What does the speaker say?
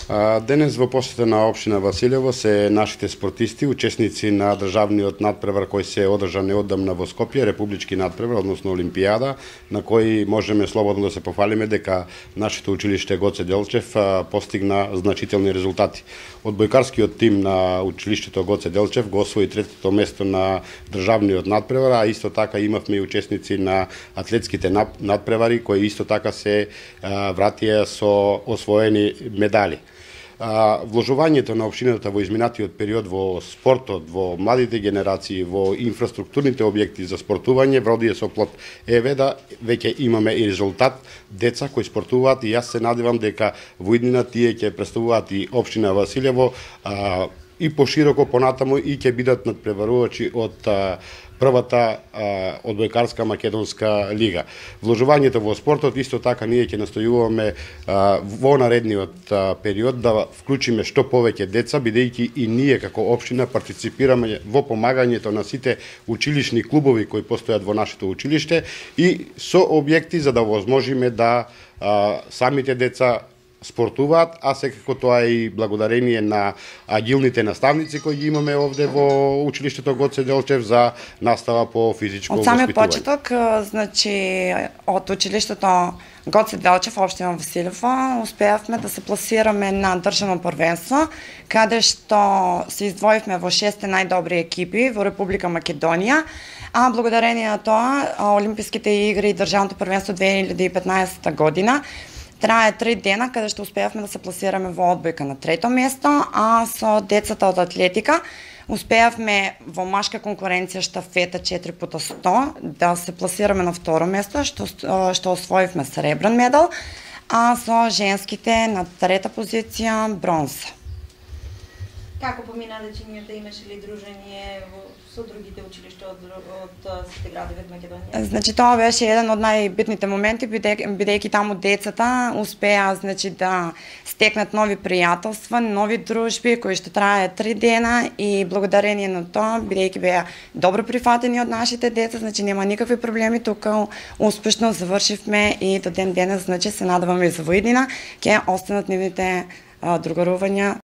Денес во посета на општина Василево се нашите спортисти, учесници на државниот надпревар кој се одржа неодамна во Скопје, републички надпревар, односно Олимпијада, на кој можеме слободно да се пофалиме дека нашето училиште Гоце Делчев постигна значителни резултати. Одбојкарскиот тим на училиштето Гоце Делчев го освои третото место на државниот надпревар, а исто така имавме и учесници на атлетските надпревари кои исто така се вратија со освоени медали. Вложувањето на општината во изминатиот период во спортот, во младите генерации, во инфраструктурните објекти за спортување вродија со плод. Еве да веќе имаме и резултат, деца кои спортуваат, и јас се надевам дека во иднина тие ќе представуваат и општина Василево и пошироко понатаму и ќе бидат надпреварувачи од првата одбојкарска македонска лига. Вложувањето во спортот исто така ние ќе настојуваме во наредниот период да вклучиме што повеќе деца, бидејќи и ние како општина партиципираме во помагањето на сите училишни клубови кои постојат во нашето училиште и со објекти за да возможиме да самите деца спортуваат, а секако тоа е и благодарение на агилните наставници кои ги имаме овде во училиштето Гоце Делчев за настава по физичко воспитување. Од самиот почеток, значи од училиштето Гоце Делчев, општина Василево, успеавме да се пласираме на државно првенство, каде што се издвоивме во 6 најдобри екипи во Република Македонија, а благодарение на тоа Олимписките игри и државното првенство 2015 година трае 3 дена, каде што успеавме да се пласираме во одбојка на 3-то место, а со децата од атлетика успеавме во машка конкуренција штафета 4x100 да се пласираме на 2-ро место, што освоивме сребрен медал, а со женските на 3-та позиција бронза. Како помина дечињата, имаше ли дружење со другите училишта од сите градови од Македонија? Значи тоа беше еден од најбитните моменти, бидејќи таму децата успеа да стекнат нови пријателства, нови дружби кои што трае 3 дена и благодарение на тоа, бидејќи беа добро прифатени од нашите деца, значи нема никакви проблеми, тука успешно завршивме и до ден денес, значи се надеваме и за во иднина ќе останат нивните другарувања